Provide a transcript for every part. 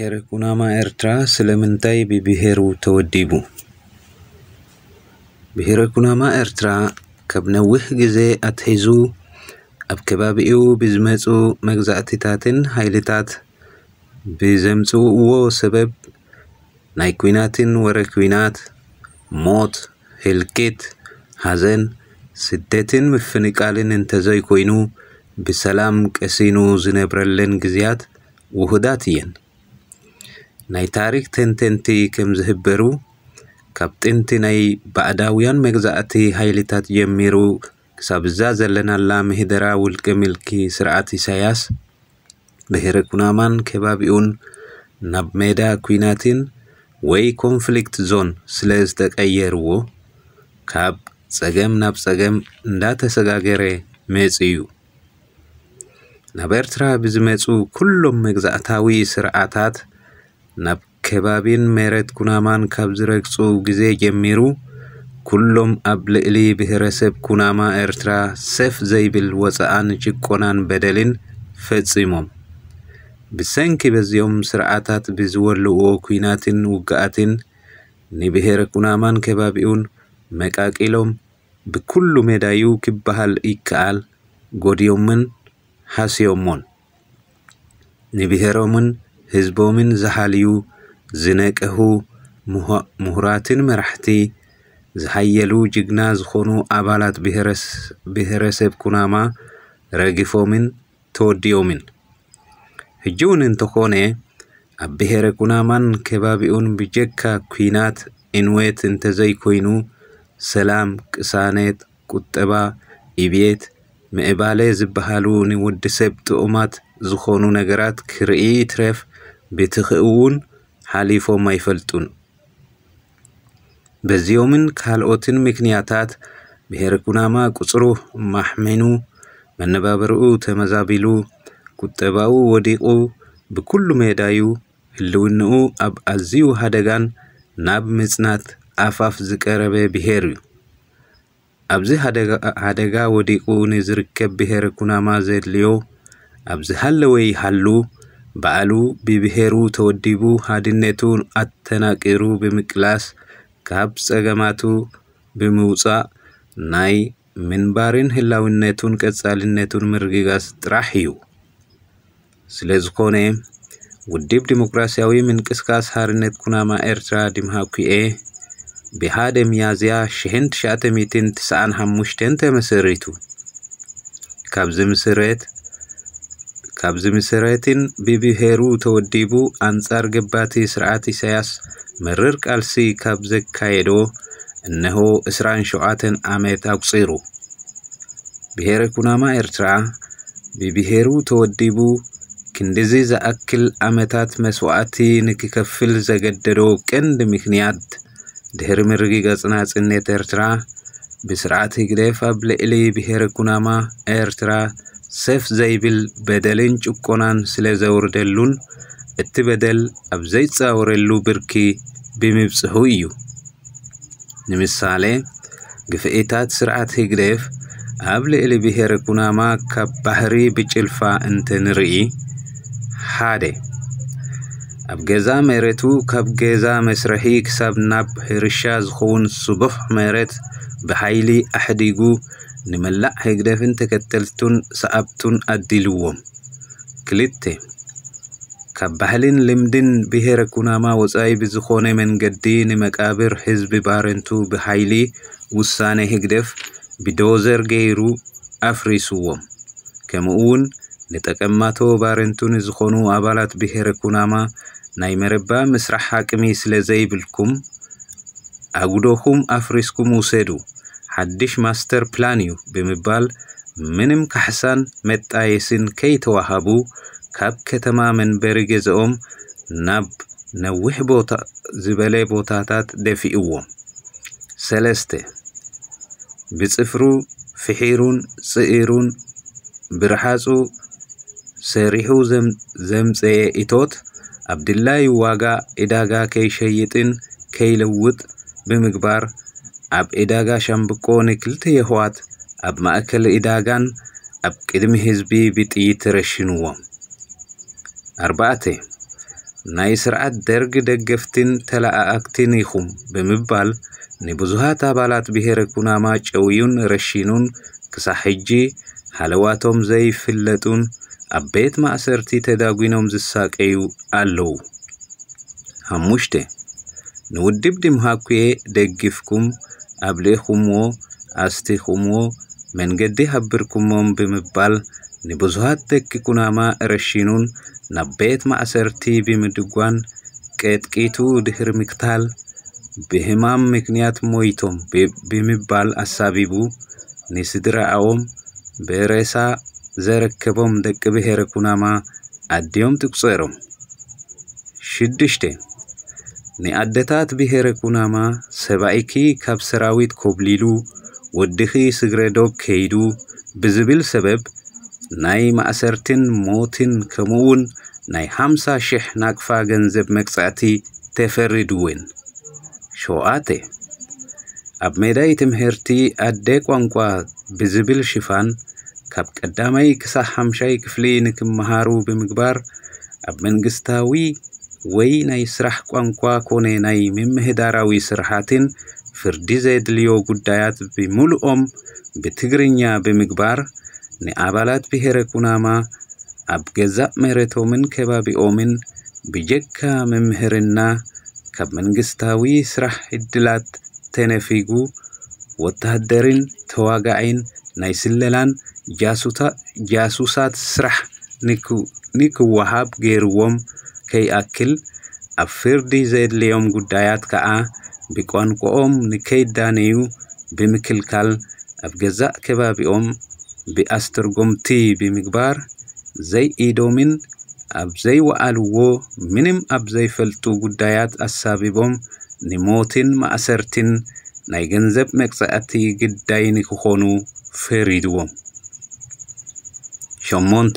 ብሄረ ኩናማ ኤርትራ ስለምንታይ ብብሄሩ ተወዲቡ? ብሄረ ኩናማ ኤርትራ ካብ ነዊሕ ግዜ ኣትሒዙ ኣብ ከባቢኡ ብዝመጹ መግዛእትታትን ሓይልታት ብዘምጽእዎ ሰበብ ናይ ኲናትን ወረ ኲናት፣ ሞት፣ ህልቂት፣ ሓዘን፣ ስደትን ምፍንቃልን እንተዘይኮይኑ ብሰላም ቀሲኑ ዝነብረለን ግዜያት ውሁዳት እየን። ናይ ታሪክ ተንተንቲ ከም ዝህበሩ ካብ ጥንቲ ናይ ባዕዳውያን መግዛእቲ ሓይልታት ጀሚሩ ክሳብ እዛ ዘለናላ ምህደራ ውልቀ ምልኪ ስርዓት ኢሳያስ ብሄረ ኩናማን ከባቢኡን ናብ ሜዳ ኲናትን ወይ ኮንፍሊክት ዞን ስለ ዝተቀየርዎ ካብ ጸገም ናብ ጸገም እንዳተሰጋገረ መጺኡ። ናብ ኤርትራ ብዝመጹ ኩሎም መግዛእታዊ ስርዓታት ናብ ከባቢን መሬት ኩናማን ካብ ዝረግጹ ግዜ ጀሚሩ ኩሎም ኣብ ልዕሊ ብሄረሰብ ኩናማ ኤርትራ ሰፍ ዘይብል ወጻኣን ጭቆናን በደልን ፈጺሞም። ብሰንኪ በዚኦም ስርዓታት ብዝወልእዎ ኲናትን ውግኣትን ንብሄረ ኩናማን ከባቢኡን መቃቂሎም ብኩሉ ሜዳዩ ክበሃል ይከኣል ጎድዮምን ሃስዮሞን። ንብሄሮምን ህዝቦምን ዝሓልዩ ዝነቀሁ ምሁራትን መራሕቲ ዝሓየሉ ጅግና ዝኾኑ ኣባላት ብሄረሰብ ኩናማ ረጊፎምን ተወዲኦምን። ሕጂ እውን እንተኾነ ኣብ ብሄረ ኩናማን ከባቢኡን ብጀካ ኲናት ዕንወት እንተዘይኮይኑ ሰላም፣ ቅሳነት፣ ቁጠባ፣ ዕብየት፣ ምዕባለ ዝበሃሉ ንወዲ ሰብ ጥዑማት ዝኾኑ ነገራት ክርኢ ይትረፍ ብትኺ እውን ሓሊፎም ኣይፈልጡን። በዚኦምን ካልኦትን ምክንያታት ብሄረ ኩናማ ቁጽሩ ማሕሚኑ፣ መነባብርኡ ተመዛቢሉ፣ ቁጠባኡ ወዲቑ፣ ብኩሉ ሜዳዩ ህልውንኡ ኣብ ኣዝዩ ሓደጋን ናብ ምጽናት ኣፋፍ ዝቀረበ ብሄር እዩ። ኣብዚ ሓደጋ ወዲቑ ንዝርከብ ብሄረ ኩናማ ዘድልዮ ኣብ ዝሃለወ ይሃሉ ባዕሉ ብብሄሩ ተወዲቡ ሓድነቱ ኣተናቂሩ ብምቅላስ ካብ ጸገማቱ ብምውጻእ ናይ ምንባርን ህላውነቱን ቀጻልነቱን ምርግጋጽ ጥራሕ እዩ። ስለ ዝኾነ ውድብ ዲሞክራሲያዊ ምንቅስቃስ ሓርነት ኩናማ ኤርትራ ዲምሃኩኤ ብሓደ ሚያዝያ ሽሕን ትሽዓተ ሚእትን ትስዓን ሓሙሽተን ተመሰሪቱ። ካብ ዝምስረት ካብ ዝምስረትን ብብሄሩ ተወዲቡ ኣንጻር ገባቲ ስርዓት ኢሳያስ መርር ቃልሲ ካብ ዘካየዶ እነሆ ዕስራን ሸውዓተን ዓመት ኣቁጺሩ። ብሄረ ኩናማ ኤርትራ ብብሄሩ ተወዲቡ ክንድዚ ዝኣክል ዓመታት መስዋእቲ ንክከፍል ዘገደዶ ቀንዲ ምክንያት ድሕሪ ምርግጋጽ ናጽነት ኤርትራ ብስርዓት ህግደፍ ኣብ ልዕሊ ብሄረ ኩናማ ኤርትራ ሰፍ ዘይብል በደልን ጭቆናን ስለ ዘውርደሉን እቲ በደል ኣብ ዘይጻወረሉ ብርኪ ብምብጽሑ እዩ። ንምሳሌ ግፍዒታት ስርዓት ህግደፍ ኣብ ልዕሊ ብሄረ ኩናማ ካብ ባሕሪ ብጭልፋ እንተ ንርኢ፣ ሓደ ኣብ ገዛ መሬቱ ካብ ገዛ መስርሒ ክሳብ ናብ ሕርሻ ዝኸውን ስቡሕ መሬት ብሓይሊ ኣሕዲጉ ንመላእ ህግደፍን ተከተልቱን ሰዓብቱን ኣዲልዎም። ክልተ ካብ ባህልን ልምድን ብሄረ ኩናማ ወጻኢ ብዝኾነ መንገዲ ንመቃብር ህዝቢ ባረንቱ ብሓይሊ ውሳነ ህግደፍ ብዶዘር ገይሩ ኣፍሪስዎም። ከምኡ እውን ንጠቀማቶ ባረንቱ ንዝኾኑ ኣባላት ብሄረ ኩናማ ናይ መረባ ምስራሕ ዓቅሚ ስለ ዘይብልኩም ኣጉዶኹም ኣፍሪስኩም ውሰዱ፣ ሓድሽ ማስተር ፕላን እዩ ብምባል ምንም ካሕሳን መጣየስን ከይተዋሃቡ ካብ ከተማ መንበሪ ገዝኦም ናብ ነዊሕ ቦታ ዝበለ ቦታታት ደፊእዎም። ሰለስተ ብጽፍሩ ፍሒሩን ጽኢሩን ብርሓጹ ሰሪሑ ዘምጸየ እቶት ኣብ ድላዩ ዋጋ ዕዳጋ ከይሸይጥን ከይለውጥ ብምግባር ኣብ ዕዳጋ ሻምብቆ ንክልተ የሕዋት ኣብ ማእከል ዕዳጋን ኣብ ቅድሚ ህዝቢ ብጥይት ረሽንዎም። ኣርባዕተ ናይ ስርዓት ደርግ ደገፍትን ተለኣኣክትን ኢኹም ብምባል ንብዙሃት ኣባላት ብሄረ ኩናማ ጨውዩን ረሺኑን ክሳብ ሕጂ ሃለዋቶም ዘይፍለጡን ኣብ ቤት ማእሰርቲ ተዳጒኖም ዝሳቀዩ ኣለዉ። ሓሙሽተ፣ ንውድብ ዲምሃኩየ ደጊፍኩም ኣብሊእኹምዎ፣ ኣስቲኹምዎ፣ መንገዲ ሃብርኩሞም ብምባል ንብዙሃት ደቂ ኩናማ ረሺኑን ናብ ቤት ማእሰርቲ ብምድጓን ቀጥቂቱ ድሕሪ ምክታል ብህማም ምክንያት ሞይቶም ብምባል ኣሳቢቡ ንስድራኣዎም ብሬሳ ዘረከቦም ደቂ ብሄረ ኩናማ ኣድዮም ትቁጸሮም። ሽዱሽተ፣ ንኣደታት ብሄረ ኩናማ ሰብኣይኪ ካብ ሰራዊት ኮብሊሉ ወድኺ ስግረ ዶብ ከይዱ ብዝብል ሰበብ ናይ ማእሰርትን ሞትን ከምኡውን ናይ ሓምሳ ሽሕ ናቅፋ ገንዘብ መቅጻዕቲ ተፈሪድወን። ሸውዓተ፣ ኣብ ሜዳይ ትምህርቲ ኣደ ቋንቋ ብዝብል ሽፋን ካብ ቀዳማይ ክሳብ ሓምሻይ ክፍሊ ንክመሃሩ ብምግባር ኣብ መንግስታዊ ወይ ናይ ስራሕ ቋንቋ ኮነ ናይ ምምህዳራዊ ስራሓትን ፍርዲ ዘድልዮ ጉዳያት ብምሉኦም ብትግርኛ ብምግባር ንኣባላት ብሄረ ኩናማ ኣብ ገዛእ መሬቶምን ከባቢኦምን ብጀካ ምምህርና ካብ መንግስታዊ ስራሕ ዕድላት ተነፊጉ ወታደርን ተዋጋዒን ናይ ስለላን ጃሱሳት ስራሕ ንክወሃብ ገይርዎም ከይኣክል ኣብ ፍርዲ ዘድልዮም ጉዳያት ከዓ ብቋንቋኦም ንከይዳነዩ ብምክልካል ኣብ ገዛእ ከባቢኦም ብኣስተርጎምቲ ብምግባር ዘይኢዶምን ኣብ ዘይወዓልዎ ምንም ኣብ ዘይፈልጡ ጉዳያት ኣሳቢቦም ንሞትን ማእሰርትን ናይ ገንዘብ መቅጻዕቲ ግዳይ ንክኾኑ ፈሪድዎም። ሸሞንተ፣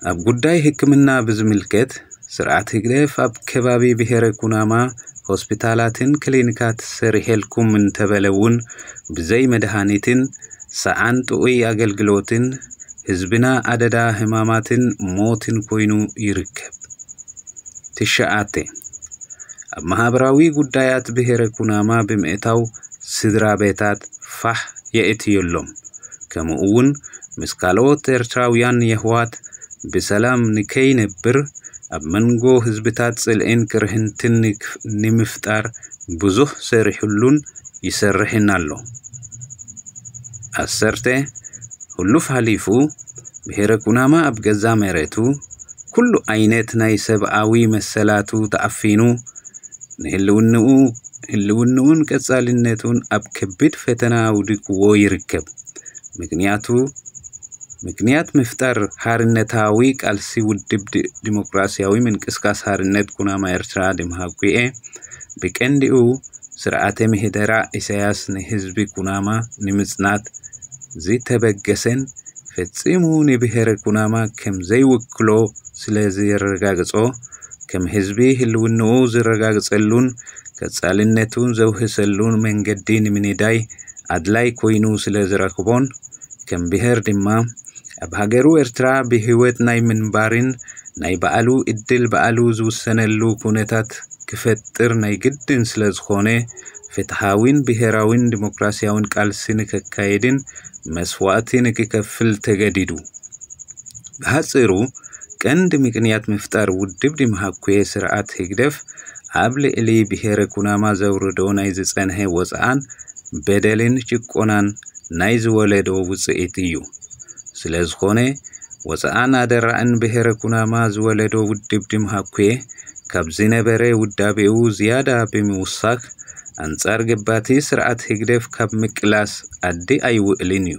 ኣብ ጉዳይ ሕክምና ብዝምልከት ስርዓት ህግደፍ ኣብ ከባቢ ብሄረ ኩናማ ሆስፒታላትን ክሊኒካት ሰሪሐልኩም እንተበለ እውን ብዘይ መድሃኒትን ሰዓን ጥዑይ ኣገልግሎትን ህዝብና ኣደዳ ህማማትን ሞትን ኮይኑ ይርከብ። ትሽዓተ፣ ኣብ ማህበራዊ ጉዳያት ብሄረ ኩናማ ብምእታው ስድራ ቤታት ፋሕ የእትየሎም። ከምኡ እውን ምስ ካልኦት ኤርትራውያን የሕዋት ብሰላም ንከይነብር ኣብ መንጎ ህዝብታት ጽልእን ቅርህንትን ንምፍጣር ብዙሕ ሰሪሕሉን ይሰርሕን ኣሎ። ዓሰርተ፣ ሕሉፍ ሓሊፉ ብሄረ ኩናማ ኣብ ገዛ መሬቱ ኩሉ ዓይነት ናይ ሰብኣዊ መሰላቱ ተዓፊኑ ንህልውንኡ ህልውንኡን ቀጻልነቱን ኣብ ከቢድ ፈተና ኣውዲቅዎ ይርከብ። ምክንያቱ ምክንያት ምፍጣር ሓርነታዊ ቃልሲ ውድብ ዲሞክራሲያዊ ምንቅስቃስ ሓርነት ኩናማ ኤርትራ ድምሃኩኤ ብቀንዲኡ ስርዓተ ምሕደራ ኢሳያስ ንህዝቢ ኩናማ ንምጽናት ዝተበገሰን ፈጺሙ ንብሄረ ኩናማ ከም ዘይውክሎ ስለ ዘረጋግጾ ከም ህዝቢ ህልውንኡ ዝረጋግጸሉን ቀጻልነቱን ዘውህሰሉን መንገዲ ንምንዳይ ኣድላይ ኮይኑ ስለ ዝረክቦን ከም ብሄር ድማ ኣብ ሃገሩ ኤርትራ ብህይወት ናይ ምንባርን ናይ ባዕሉ እድል ባዕሉ ዝውሰነሉ ኩነታት ክፈጥር ናይ ግድን ስለ ዝኾነ ፍትሓዊን ብሄራዊን ዲሞክራሲያዊን ቃልሲ ንከካየድን መስዋእቲ ንክከፍል ተገዲዱ። ብሓጺሩ ቀንዲ ምክንያት ምፍጣር ውድብ ዲምሃኩየ ስርዓት ህግደፍ ኣብ ልዕሊ ብሄረ ኩናማ ዘውርዶ ናይ ዝጸንሐ ወጽዓን በደልን ጭቆናን ናይ ዝወለዶ ውጽኢት እዩ። ስለ ዝኾነ ወጽዓን ኣደራዕን ብሄረ ኩናማ ዝወለዶ ውድብ ዲምሃኩየ ካብ ዝነበረ ውዳቤኡ ዝያዳ ብምውሳኽ ኣንጻር ገባቲ ስርዓት ህግደፍ ካብ ምቅላስ ኣዲ ኣይውዕልን እዩ።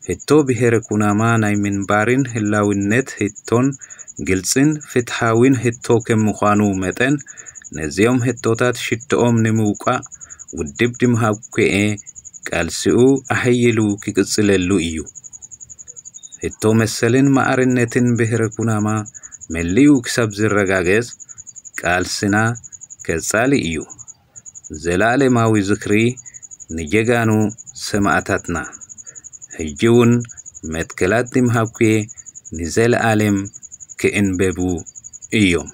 ህቶ ብሄረ ኩናማ ናይ ምንባርን ህላውነት ህቶን ግልጽን ፍትሓዊን ህቶ ከም ምዃኑ መጠን ነዚኦም ህቶታት ሽትኦም ንምውቃዕ ውድብ ዲምሃኩኤ ቃልሲኡ ኣሐይሉ ክቅጽለሉ እዩ። ህቶ መሰልን ማዕርነትን ብሄረ ኩናማ መሊኡ ክሳብ ዝረጋገጽ ቃልስና ቀጻሊ እዩ። ዘላለማዊ ዝኽሪ ንጀጋኑ ሰማእታትና። ሕጂ እውን መትከላት ዲምሃኩኤ ንዘለኣለም ክእንበቡ እዮም።